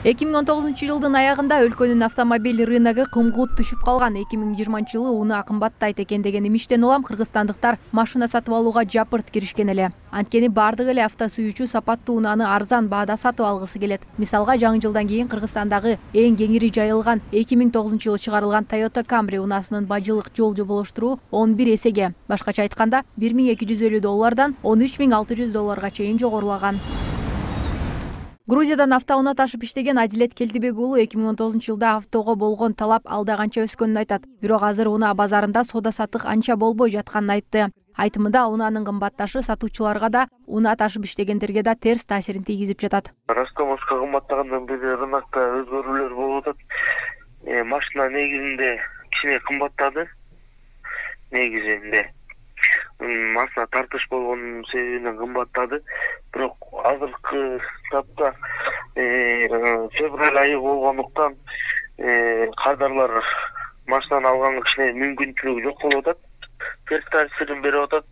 2019 жылдын аягында өлкөнүн автомобиль рыногу кымгут түшүп калган. 2020 жылы унаа кымбаттайт экен деген имиштен улам кыргызстандыктар машина сатып алууга жапырт киришкен эле. Анткени бардык эле авто сүйүүчү сапаттуу унааны арзан баада сатып алгысы келет. Мисалга, жаңы жылдан кийин Кыргызстандагы эң кеңири жайылган 2009 жылы чыгарылган Toyota Camry унаасынын бажылык жол жоболоштуруу 11 эсеге, башкача айтканда $1250 $13,600 чейин жогорулаган. Грузиядан автоунаа ташып иштеген Адилет Келдибек уулу 2019 жылда автого болгон талап алда канча өскөнүн айтат. Бирок азыр унаа базарында соода саттык анча болбой жатканын айтты. Айтымында унаанын кымбатташы сатуучуларга да, унаа ташып иштегендерге да терс таасирин тийгизип жатат. Растамовка кымбаттагандан бери рынокто өзгөрүүлөр болуп атат. Машина негизинде кичине кымбаттады. Негизинде машина тартыш болгон себебинен кымбаттады. Бирок азыркы тапта февраль айы болгондуктан кардарлар машинаны алганга кичине мүмкүнчүлүгү жок болуп атат. Терс таасирин берип атат.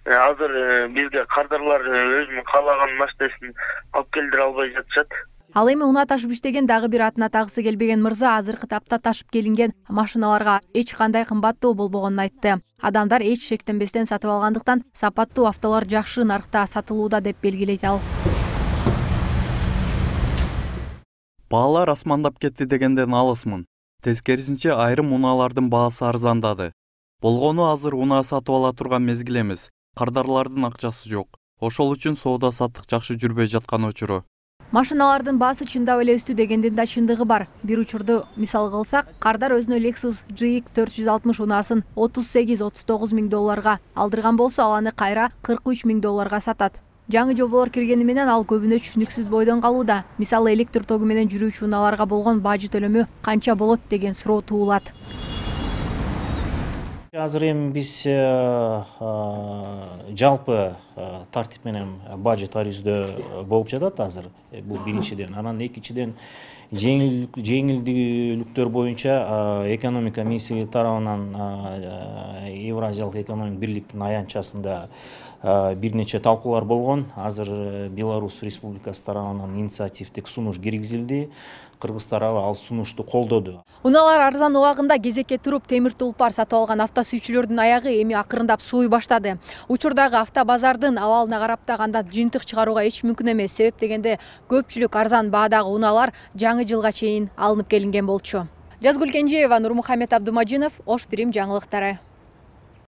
Азыр бизге кардарлар өзүнүн каалаган машинасын алып келдире албай жатышат. Ал эми унаа ташып иштеген дагы бир атына тагысы келбеген мырза азыркы тапта ташып келинген машиналарга эч кандай кымбаттуу болбогонун айтты. Адамдар эч шектенбестен сатып алгандыктан сапаттуу автолор жакшы наркта сатылууда деп белгилейт ал. Баалар асмандап кетти дегенден алысмын. Тескерисинче айрым унаалардын баасы арзандады. Болгону азыр унаа сатып ала турган мезгил эмес. Кардарлардын акчасы жок. Ошол үчүн соода саттык жакшы жүрбөй жаткан учуру. Машиналардын баасы чындап эле өстү дегендин да чындыгы бар. Бир учурду мисал кылсак, кардар өзүнө Lexus GX 460 унаасын $38-39 миң алдырган болсо, ал аны кайра $43 миң сатат. Жаңы жоболор киргени менен ал көбүнө түшүнүксүз бойдон калууда. Мисалы, электр тогу менен жүрүүчү унааларга болгон бажы төлөмү канча болот деген суроо туулат. Азыр эми биз жалпы тартип менен бажы тарифиздөө болуп жатат азыр. Бул биринчиден. Анан экинчиден жеңилдүүлүктөр боюнча экономика министрлиги тарабынан Евразиялык экономик бирликтин аянтчасында бир нече талкуулар болгон. Азыр Беларусь Республикасы тарабынан инициативдик сунуш киргизилди. Кыргыз тарабы ал сунушту колдоду. Унаалар арзан убагында кезекке туруп темир тулпар сатып алган авто сүйүүчүлөрдүн аягы эми акырындап сууй баштады. Учурдагы автобазардын абалына карап таганда жыйынтык чыгарууга эч мүмкүн эмес. Себеп дегенде көпчүлүк арзан баадагы унаалар жаңы жылга чейин алынып келинген болчу. Жазгүл Кенжеева, Нурмухамед Абдумажинов, Ош Бирим жаңылыктары.